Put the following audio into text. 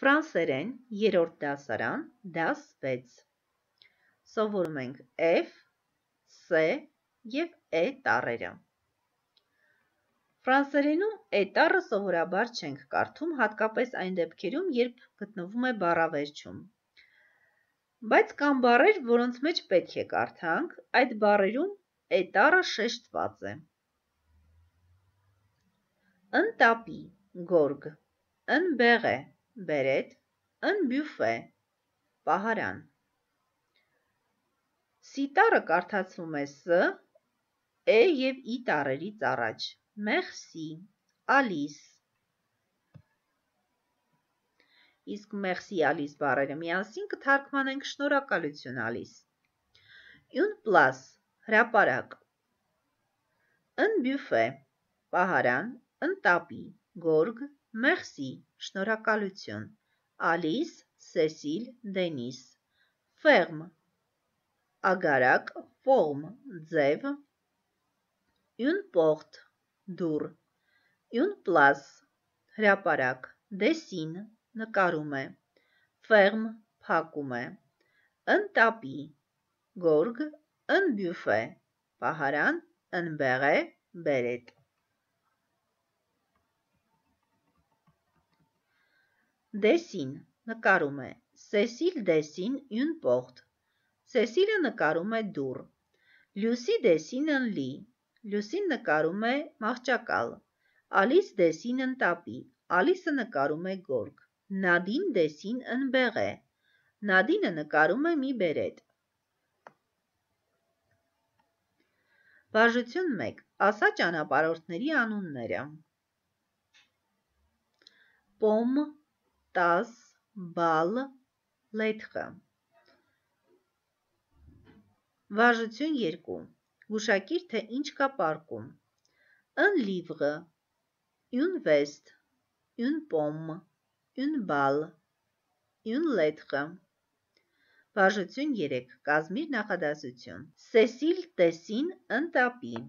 Ֆրանսերեն երրորդ դասարան դաս 6 Սովորում ենք F, C և E տառերը։ Ֆրանսերենում E տառը սովորաբար չենք կարդում, հատկապես այն դեպքերում, երբ գտնվում է բառավերջում։ Բայց կան բառեր, որոնց մեջ պետք է կարդանք, այդ բառերում E տառը շեշտված է։ Un tapis, գորգ, un béret, բերետ, un buffet, պահարան։ C տառը կարդացվում է S, E և I տառերից առաջ։ Merci, Alice։ Իսկ merci, Alice բառերը միասին կթարգմանենք շնորհակալություն, Alice։ Une place, հրապարակ, un buffet, պահարան, un tapis, գորգ, merci, շնորհակալություն, Alice, Cécile, Denis, ferme, ագարակ, forme, ձև, une porte, դուռ, une place, հրապարակ, dessine, նկարում է, ferme, փակում է, un tapis, գորգ, un buffet, պահարան, un béret, բերետ։ Dessine, նկարում է, Cécile dessine une porte, Cécile-ը նկարում է դուռ, Lucie dessine un lit, Lucie-ն նկարում է մահճակալ, Alice dessine un tapis, Alice-ը նկարում է գորգ, Nadine dessine un béret, Nadine-ը նկարում է մի բերետ։ Վարժություն 1. Ասա ճանապարհորդների անունները։ Pomme, tasse, bal, lettre։ Վարժություն 2. Գուշակիր, թե ինչ կա պարկում։ Un livre, une veste, une pomme, une balle, une lettre։ Վարժություն 3. Կազմիր նախադասություն։ Cécile dessine un tapis,